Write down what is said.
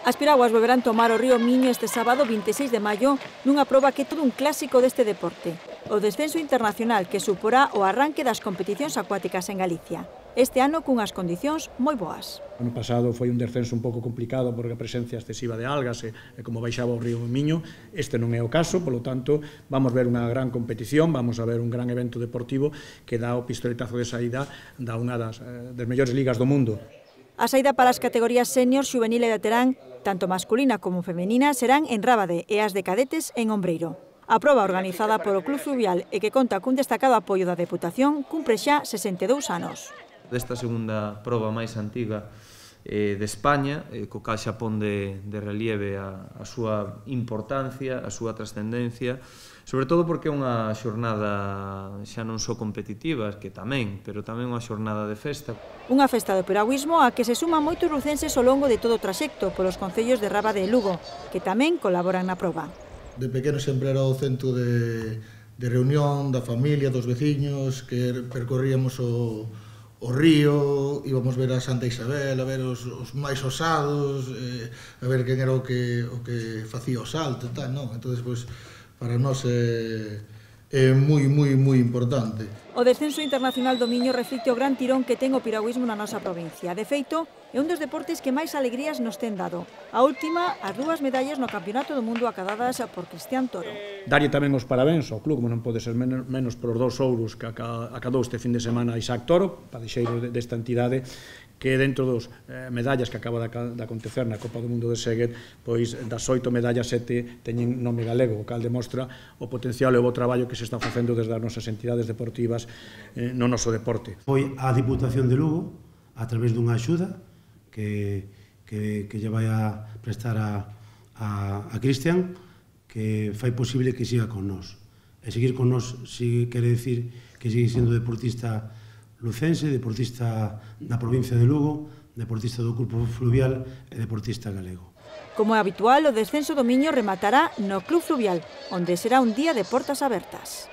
As piraguas volverán tomar o río Miño este sábado 26 de maio nunha proba que é todo un clásico deste deporte, o descenso internacional que suporá o arranque das competicións acuáticas en Galicia. Este ano cunhas condicións moi boas. O ano pasado foi un descenso un pouco complicado porque a presencia excesiva de algas e como baixaba o río Miño. Este non é o caso, polo tanto, vamos ver unha gran competición, vamos a ver un gran evento deportivo que dá o pistoletazo de saída da unha das mellores ligas do mundo. A saída para as categorías senior, xuvenil e veterán, tanto masculina como femenina, serán en Rábade e as de cadetes en Ombreiro. A proba organizada polo Club Fluvial e que conta cun destacado apoio da Deputación cumpre xa 62 anos. Desta segunda proba máis antiga de España, co cal xa pon de relieve a súa importancia, a súa trascendencia, sobre todo porque é unha xornada xa non só competitiva, que tamén, pero tamén unha xornada de festa. Unha festa do piragüismo a que se suman moitos lucenses ao longo de todo o traxecto polos concellos de Rábade e Lugo, que tamén colaboran na proba. De pequeno sempre era o centro de reunión da familia, dos veciños, que percorríamos o río, íbamos ver a Santa Isabel, a ver os máis osados, a ver quen era o que facía o salto e tal, non? Entón, pois, para nós é moi importante. O descenso internacional do Miño reflicte o gran tirón que ten o piragüismo na nosa provincia. De feito, é un dos deportes que máis alegrías nos ten dado. A última, as 2 medallas no Campeonato do Mundo acadadas por Cristian Toro. Darlle tamén os parabéns ao club, como non pode ser menos por os 2 ouros que acadou este fin de semana Isaac Toro, padexeiro desta entidade, que dentro dos medallas que acaba de acontecer na Copa do Mundo de Seguet, pois das 8 medallas 7 teñen nome galego, o cal demostra o potencial e o bo traballo que se está facendo desde as nosas entidades deportivas no noso deporte. Foi a Diputación de Lugo, a través dunha axuda que lle vai a prestar a Cristian, que fai posible que siga con nós. E seguir con nós quere decir que sigue sendo deportista lucense, deportista da provincia de Lugo, deportista do Grupo Fluvial e deportista galego. Como é habitual, o descenso do Miño rematará no Club Fluvial, onde será un día de portas abertas.